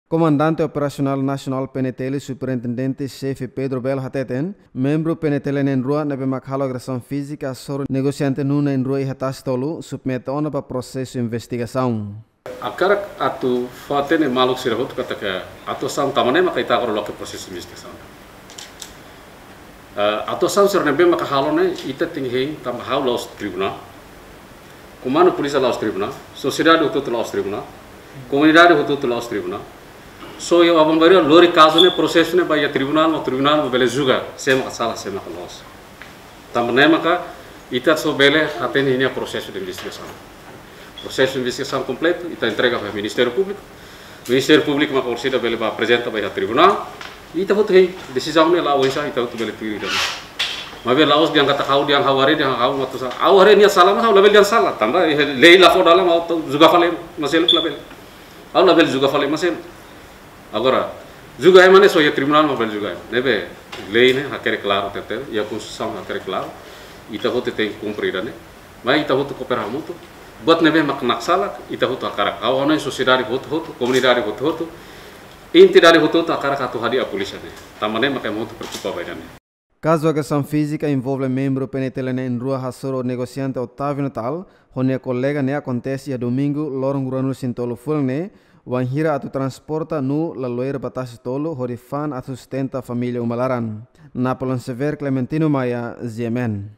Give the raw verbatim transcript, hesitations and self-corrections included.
Komandante Operasionál Nasionál P N T L, Superintendente Xefe Pedro Belo hateten, membru P N T L na'in-rua ne'ebé mak halo agresaun fízika hasoru negosiante nuu na'in-rua iha Tasitolu, submete ona ba prosesu investigasaun. Hakarak atu fó-hatene maluk sira hotu katak atuasaun tanba ne'e maka ita agora loke prosesu investigasaun. Eh, atuasaun sira ne'ebé maka halo ne'e, ita tenke hein tanba ha'u la'ós tribunál. Komandu polísia la'ós tribunál, sosiedade hotu-hotu la'ós tribunál, komunidade hotu-hotu la'ós tribunál. Só iha aban-bainrua lori kazu ne'e, prosesu ne'e ba iha tribunál, mak tribunál mak bele julga sé maka sala, sé maka loos. Tanba ne'e maka ita só bele hatene ninia prosesu de investigasaun. Prosesu de investigasaun kompletu ita entrega ba Ministériu Públiku. Ministériu Públiku maka orsida bele ba aprezenta ba iha tribunál. Ita hotu hein desizaun ne'e la'o oinsá, ita hotu bele tuir ida-ne'e. Maibé la'ós dehan katak ha'u, dehan ha'u haree, dehan ha'u mak atu sala. Ha'u haree nia sala, mas ha'u labele dehan sala. Tanba iha lei la fó dalan mak ha'u atu julga fali ema seluk, labele. Ha'u labele julga fali ema seluk. Agora, julga ema ne'e só iha tribunál mak bele julga ema. Ne'ebé lei ne'e hakerek klaru tebes, iha Konstituisaun hakerek klaru. Ita hotu tenke kumpre ida-ne'e. Mai ita hotu koopera hamutuk. Buat ne'ebé mak naksalak, ita hotu hakarak. Ha'u hanoin sosiedade hotu-hotu, komunidade hotu-hotu, entidade hotu-hotu hakarak atu hadi'a polísia ne'e. Tanba ne'e maka ema hotu preokupa ba ida-ne'e. Kazu agresaun fízika envolve membru P N T L na'in-rua hasoru negosiante Otávio Natal ho nia kolega ne'e akontese iha Domingu, loron ruanulu-resin-tolu fulan ne'e, wainhira atu transporta nuu laloe ba Tasitolu hodi fa'an atu sustenta família uma laran. Napoleon Xavier, Clementino Maia, G M N.